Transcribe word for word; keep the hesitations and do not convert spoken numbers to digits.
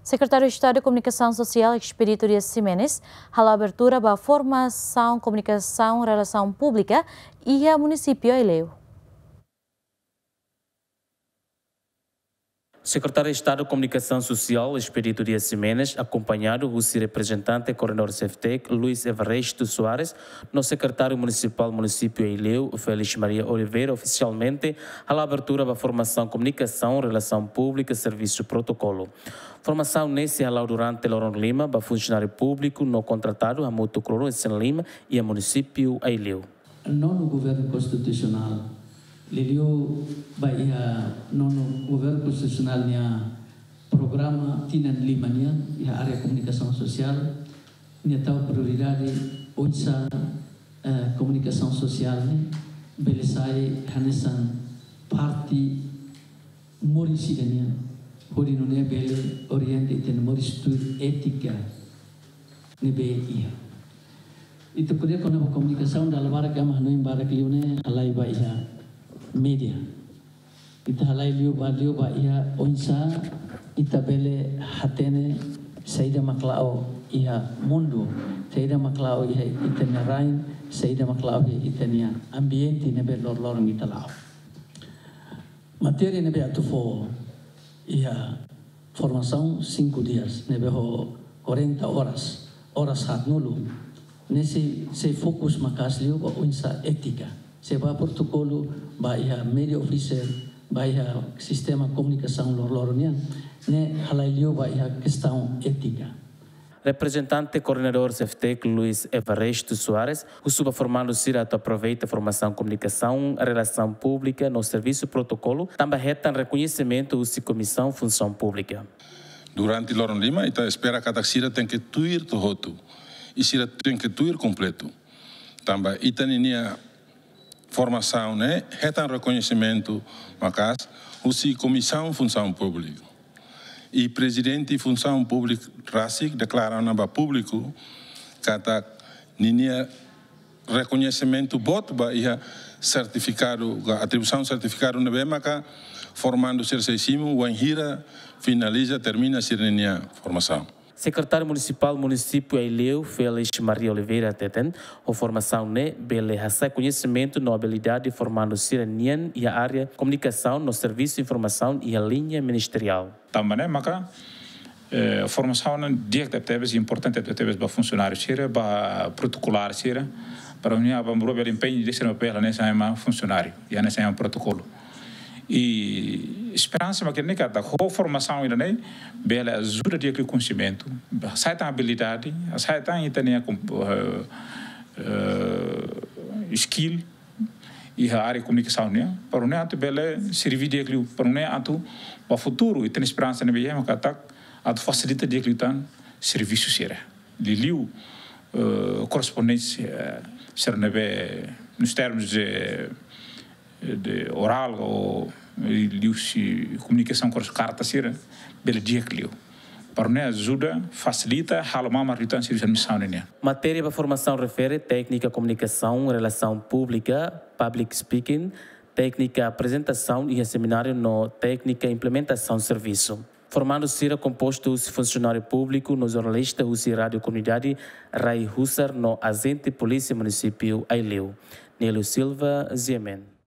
Sekretáriu Estadu Komunikasaun Sosiál Expedito Dias Ximenes hala'o abertura ba formasaun komunikasaun relasaun públika iha munisípiu Aileu. Sekretáriu Estadu Komunikasaun Sosiál Expedito Dias Ximenes, akompañadu husi reprezentante koordenadór SEFTEC, Luis Evaristo Soares, no Sekretáriu Munisipál Munisípiu Aileu, Félix Maria Oliveira, ofisialmente hala'o abertura ba formasaun komunikasaun relasaun públika servisu protokolu. Formasaun ne'e sei hala'o durante loron lima ba funsionáriu públiku no kontratadu hamutuk loron isin lima iha munisípiu Aileu. Nonu Governu Konstitusionál, liuliu ba iha Nonu Governu Konstitusionál nia programa tinan lima nian iha área komunikasaun sosiál, nia tau prioridade oinsá, eh, komunikasaun sosiál ne'e bele sai hanesan parte moris ida nian, hodi nune'e bele orienta ita-nia moris tuir étika ne'ebé iha. Ita ko'alia kona-ba komunikasaun, dala barak ema hanoin barak liu ne'e halai ba iha média. Ita halai liu ba, liu ba iha oinsá ita bele hatene saida mak la'o iha mundu, saida mak la'o iha ita-nia rain, saida mak la'o iha ita-nia ambiente ne'ebé loroloron ita la'o. Matéria ne'ebé atu fó iha formasaun cinco dias, ne'ebé ho quarenta horas, oras haatnulu, ne'e sei, sei fokus maka'as liu ba oinsá étika, sei ba protokolu ba iha média officer, ba iha sistema komunikasaun loroloron nian, ne'e halai liu ba iha kestaun étika. Reprezentante koordenadór SEFTEC, Luis Evaristo Soares, husu ba formandu sira atu aproveita formasaun komunikasaun relasaun públika no servisu protokolu, tanba hetan rekoñesimentu husi Komisaun Funsaun Públika. Durante loron lima, ita espera katak sira tenke tuir to'o hotu, i sira tenke tuir kompletu. Tanba ita ninia formasaun ne'e hetan rekoñesimentu maka'as husi Komisaun Funsaun Públika. I Prezidente Funsaun Públika rasik deklara ona ba públiku katak ninia rekoñesimentu boot ba iha sertifikadu, ka atribuisaun sertifikadu ne'ebé maka formandu sira sei simu wainhira finaliza, termina sira-ninia formasaun. Sekretáriu Munisipál Munisípiu Aileu, Félix Maria Oliveira hateten, ho formasaun ne'e bele hasa'e koñesimentu no abilidade formandu sira-nian iha área komunikasaun no servisu informasaun iha liña ministeriál. Tanba ne'e maka, eh, formasaun ne'e di'ak tebetebes, importante tebetebes ba funsionáriu sira, ba protokolár sira, para nune'e aban-bainrua bele empeñu ida sira-nia papél hanesan ema funsionáriu, i hanesan ema protokolu. I esperansa mak ne'e katak ho formasaun ida-ne'e bele ajuda di'ak liu koñesimentu, hasa'e tan abilidade, hasa'e tan ita-nia kom-, eh, eh, skill iha área komunikasaun nian, para nune'e atu bele serve di'ak liu, para nune'e atu ba futuru, ita-nia esperansa ne'ebé iha mak katak atu fasilita di'ak liután servisu sira. Liuliu, eh, korrespondénsia, eh, sira ne'ebé, nos termos de, de oral ou liuhusi komunikasaun kors-, karta sira, bele di'ak liu. Para nune'e ajuda, fasilita, halo mamar liután servisu administrasaun nian. Matéria ba formasaun refere téknika komunikasaun, relasaun públika, public speaking, téknika aprezentasaun iha semináriu no téknika implementasaun servisu. Formandu sira kompostu husi funsionáriu públiku no jornalista husi Rádiu Komunidade Rai Husar no ajente polísia munisípiu Aileu. Nélio Silva, G M N.